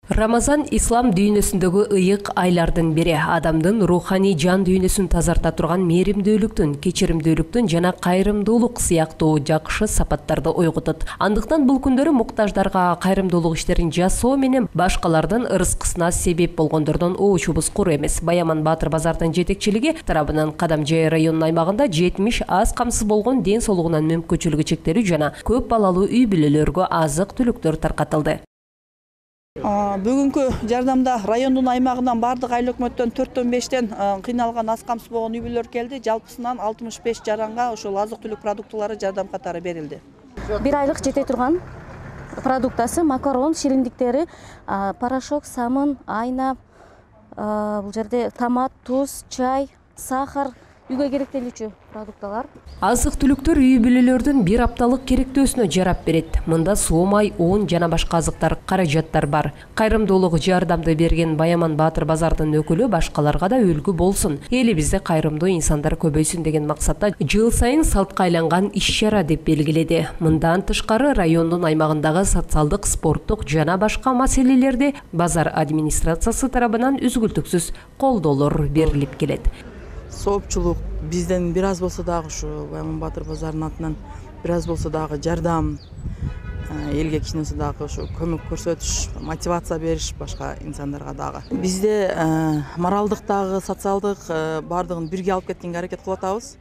Рамазан ислам дүйнөсүндөгү ыйык айлардын бири. Адамдын руханий жан дүйнөсүн тазарта турган мээримдүүлүктүн, кечиримдүүлүктүн жана кайрымдуулук сыяктуу жакшы сапаттарды ойготот. Андыктан бул күндөрү муктаждарга кайрымдуулук иштерин жасоо менен башкалардын ырыскысына себеп болгондордон оочубуз кур эмес. Баяман Баатыр базардын жетекчилиги тарабынан Кадамжай районунун аймагында 70 аз камсыз болгон ден соолугунан мүмкүнчүлүгү чектелүү жана көп балалуу үй бүлөлөргө азык-түлүктөр таркатылды. Бүгүнкү жардамда райондун аймагынан бардык айыл өкмөттөн 4-5тен кыйналган аз камсыз болгон үй бүлөлөр келди. Жалпысынан 65 жаранга ошол азык-түлүк продуктылары жардам катары берилди. Бир айлык жете турган продуктасы макарон, шириндиктери, порошок, самын, айна, бул жерде томат, туз, чай, сахар, үйгө керектелүүчү продукталар. Азык-түлүктөр үй бүлөлөрдүн бир апталык керектөөсүнө жарап берет. Мында соомай, он жана башка азыктар, каражаттар бар. Кайрымдуулук жардамды берген Баяман Баатыр базардын өкүлү башкаларга да үлгү болсун. Элибизде кайрымдуу инсандар көбөйсүн деген максатта жыл сайын салтка айланган иш-чара деп белгиледи. Мындан тышкары райондун аймагындагы социалдык, спорттук жана башка маселелерде базар администрациясы тарабынан үзгүлтүксүз колдоолор берилип келет. Соопчулук бизден бир аз болсо дагы ушу Баяман Баатыр базарынын атынан бир аз болсо дагы жардам, элге кичинеси дагы ушу көмөк көрсөтүш, мотивация бериш башка инсандарга дагы. Бизде моралдык дагы, социалдык бардыгын бирге алып кеткенге аракет кылып атабыз.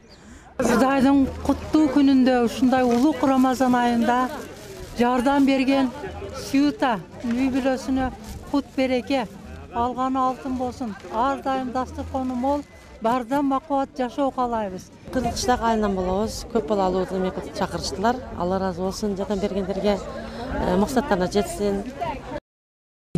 Кудайдын куттуу күнүндө ушундай улук Рамазан айында жардам берген Сюта үй бүлөсүнө кут береке, алганы алтын болсун. Ар дайым дасторкону мол, баардан бакубат жашоо каалайбыз. Кыргызчак айынан болобуз. Көп балалуу чакырыштылар. Алла ыраазы болсун, жардам бергендерге максаттарына жетсин.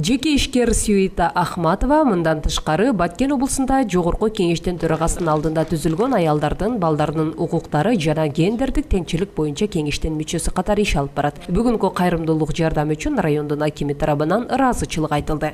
Жеке ишкер Сюита Ахматова мындан тышкары Баткен облусунда жогорку кеңештин төрагасынын алдында түзүлгөн аялдардын, балдарынын укуктары жана гендердик теңчилик боюнча кеңештин мүчөсү катары иш алып барат. Бүгүнкү кайрымдуулук жардам үчүн райондун акими тарабынан ыраазычылык айтылды.